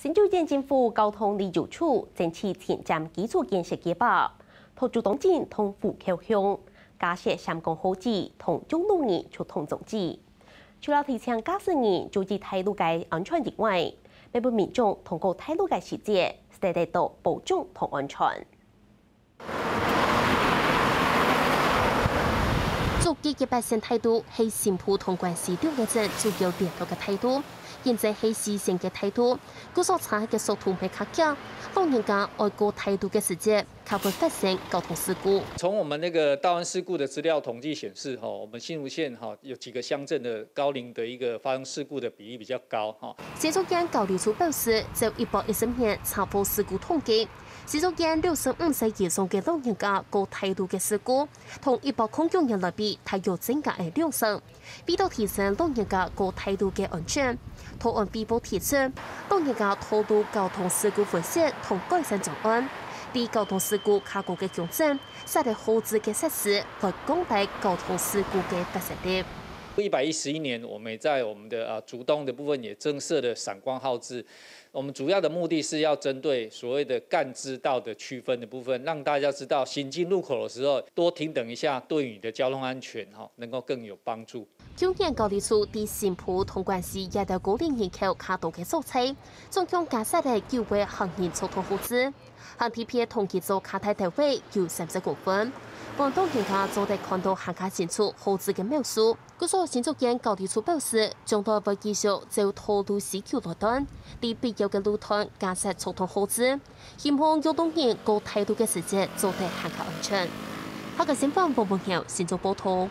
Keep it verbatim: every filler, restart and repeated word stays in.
新竹縣政府交通旅遊處爭取前瞻基礎建設計畫，討主動性同戶口鄉，加設閃光號誌同用路人出通裝置。除了提醒駕駛人注意大路个安全以外，也分民眾通過大路个時節，得到保障同安全。 竹北一八線大路係新埔同關西兩个鎮主要聯絡个大路，因為係四線个大路，故所車个速度會較遽，老人家愛過大路个時節，較會發生交通事故。從我們那個道安事故的資料統計顯示，哈，我們新竹縣哈有幾個鄉鎮的高齡的一個發生事故的比例比較高，哈。新竹縣交旅處表示，照一百一十年車禍事故統計， 新竹縣六十五歲以上个老人家過大路个事故，同一百空九年來比，大約增加了兩成。為到提升老人家過大路个安全，桃園衛福部提出，老人家道路交通事故分析同改善專案，為交通事故較高个鄉鎮，設立號誌个設施，來降低交通事故个發生率。一百一十一年，我們也在我們的啊竹東的部分也增設了閃光號誌， 我們主要的目的是要針對所謂的幹支道的區分的部分，讓大家知道行經路口的時候多停等一下，對於你的交通安全哈能夠更有幫助。舊年交旅處在新埔同關西這兜高齡人口較多个所在，總共加設了九个行人出通號誌，行地別同佢做較大个位有三十公分，分老人家做得看到還較清楚號誌个描述。 故所新竹縣交旅處表示，將來會繼續照道路需求來斷，在必要个路段加設出通號誌，希望用路人過大路个時節做得還較安全。客家新聞黃文耀新竹報導。